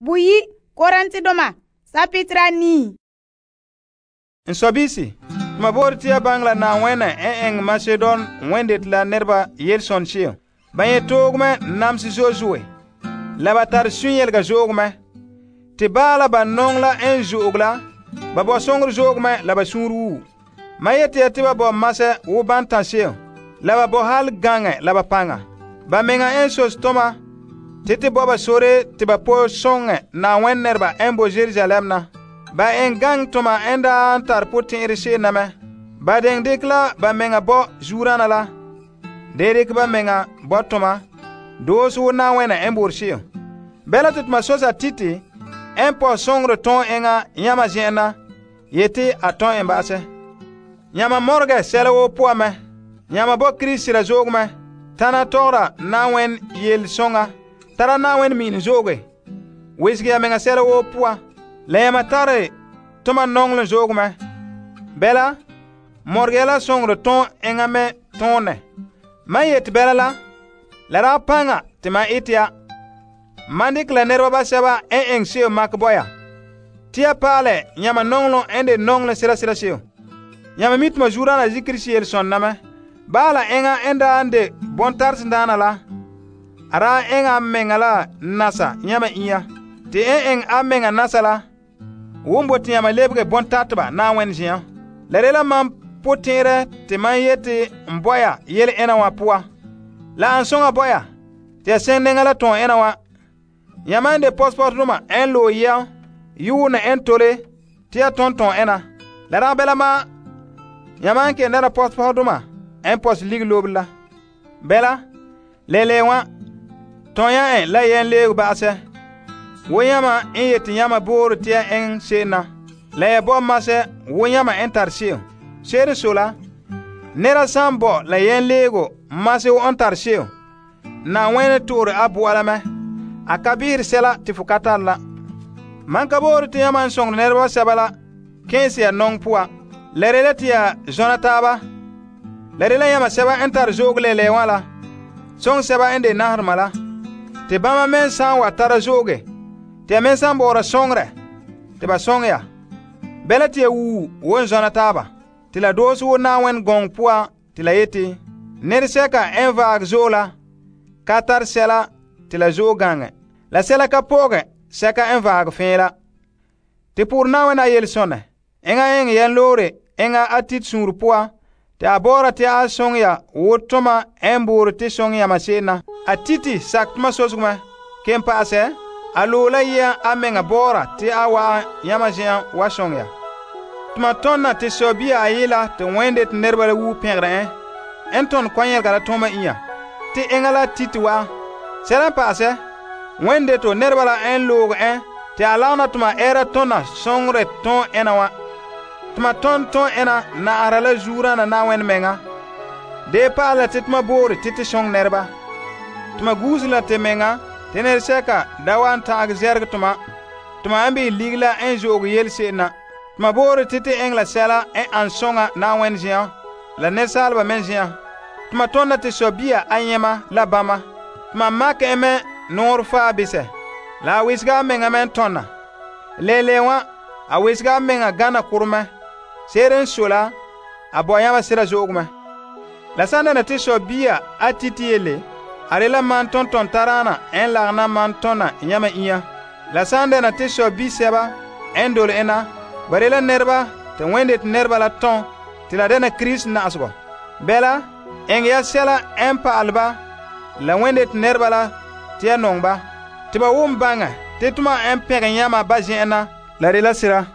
Buyi Korintedoma sapitra 9. N sɔbiisi, tuma boore tia baŋɛ la Naawɛnɛ n eŋɛ Macedon wẽndet la nɛreba yelesɔn se'em. Ba nyɛ toog mɛ namse zo'e, la ba tare sunyelega zo'ogo mɛ. Te baala ba nɔŋɛ la n zo'oge la, ba bɔ soŋorɛ zo'ogo mɛ la ba suunre wuo. Ma yete ya te ba bɔ masɛ wo bantã se'em, la ba bɔ hal gaŋɛ la ba paŋa. Ba meŋa n sos toma te bɔ ba sore te ba po soŋɛ Naawɛnɛ nɛreba n bo Yerusalem na. Ba en gaŋɛ toma n daa tare potɛn'ɛrɛ se'em na mɛ. Ba deŋ dekɛ la ba meŋa bɔ zuurana la. De dekɛ ba meŋa bɔ toma, doose wo Naawɛnɛ n boore se'em. Bɛla te toma sosa Tite n pɔ soŋorɛ tõo enŋa yãma zen'en na, yeti a tõo en ba'asɛ. Yãma mɔregɛ sɛla woo poan mɛ. Yãma bɔ Krista sira zo'ogo mɛ. Tana tɔgɔra Naawɛnɛ yele soŋa, tara Naawɛnɛ mi'inɛ zo'oge, wesege ya meŋa sɛla woo poan. La yãma tare toma nɔŋɔlem zo'ogo mɛ. Bɛla, mɔregɛ ya la soŋorɛ tõo enŋa mɛ tõonɛ. Man yete bɛla la daa paŋa te man ete ya. Man dekɛ la nɛreba basɛba n eŋɛ se'em makɛ bo ya, te ya paalɛ yãma nɔŋɔlem n de nɔŋɔlem sira se'em. Yãma mi tuma zuurana zikiri yelesɔn na mɛ. Baala enŋa n daa n de bontaresedaana la, a daa eŋɛ a meŋa la nasa yãma inya. Te n eŋɛ a meŋa nasa la, won bote yãma lebege bontateba Naawɛnɛ zen'an. La de la mam potɛn'ɛrɛ te man yete n bo ya yele ena wa poan. La an soŋa bo ya te ya seŋ nɛŋa la tõo ena wa. Yãma n de pɔsepɔsedoma n loe yɛm yuune n tole te ya tõn ena. La dagɛ bɛla ma, yãma n kelum dɛna pɔsepɔsedoma n pɔsɛ lige lobere la. Bɛla, lele wã, tõo ya en la yɛn leego ba'asɛ. Wo yãma n yete yãma boore te ya eŋɛ se'em na, la ya bɔ masɛ wo yãma n tare se'em. Se'ere so la, nɛra san bɔ la yɛn leego masɛ wo n tare se'em, Naawɛnɛ to'ore a bo'a la mɛ. A ka behere sɛla te fo ka tare la. Man ka boore te yãma n sõngere nɛreba sɛba la kẽese ya nɔŋɔ poa. La de la te ya zɔna taaba. La de la yãma sɛba n tare zo'oge lɛlɛɛ wã la, sõŋ sɛba n de naherema la. Te bãmba me san wa tara zo'oge, te ya me san bɔɔra sõŋerɛ, te ba sõŋ ya. Bɛla te ya wuu won zɔna taaba. Te la doose wo Naawɛnɛ gɔŋɔ poan te la yete, nɛresɛka n vaage zo'e la ka tare sɛla te la zo'e gaŋɛ. La sɛla ka pɔɔgɛ sɛka n vaage fẽe la. Te poore Naawɛnɛ a yelesɔnɛ, enŋa eŋɛ yɛn loore enŋa a Tite suunre poan, te a bɔɔra te a sõŋ ya wo toma n boore te sõŋ yãma se'em na. A Tite sakɛ toma sosego mɛ. Ken pa'asɛ, a loe la yɛn a meŋa bɔɔra te a wa'an yãma zen'an wa sõŋ ya. Tuma tõnna te sɔbia ayela te wẽnde te nɛreba la wuu pẽgre n tõnd kɔnyɛlga la tõma inya, te enŋa la Tite wa'an. Sɛla n pa'asɛ, wẽnde to nɛreba la n looge te a lagena tuma ɛɛra tõna sõŋorɛ tõo ena wã. Tuma tõnd tõo ena na'ahara la zuurana Naawɛnɛ meŋa. Dee pa'alɛ la te tuma boore te sõŋ nɛreba. Tuma guuse la te meŋa te nɛresɛka da wa n ta'age zɛrege tuma. Tuma n bii lige la n zo'oge yele se'em na. Tuma boore te eŋɛ la sɛla n an sõŋa Naawɛnɛ zen'an, la nɛresaaleba me zen'an. Tuma tõnda te sɔbia a yẽma la bãmba. Tuma makɛ en me noor faa bisɛ, la a wesega a meŋa me n tõnna. Lele wã, a wesega a meŋa gana koremɛ. Se'ere n so la, a bɔ yãmba sira zo'ogo mɛ. La san dɛna te sɔbia a Tite yelle, a de la man tõntɔn taraana n lagena man tõna yãmba inya. La san dɛna te sɔbi sɛba n dole ena, ba de la nɛreba te wẽnde te nɛreba la tõn te la dɛna Krista na'asegɔ. Bɛla, eŋɛ ya sɛla n pa'alɛ ba la wẽnde te nɛreba la te ya nɔŋ ba, te ba wʋm baŋɛ te tuma n pẽgẽ yãma ba zen'en na, la de la sira.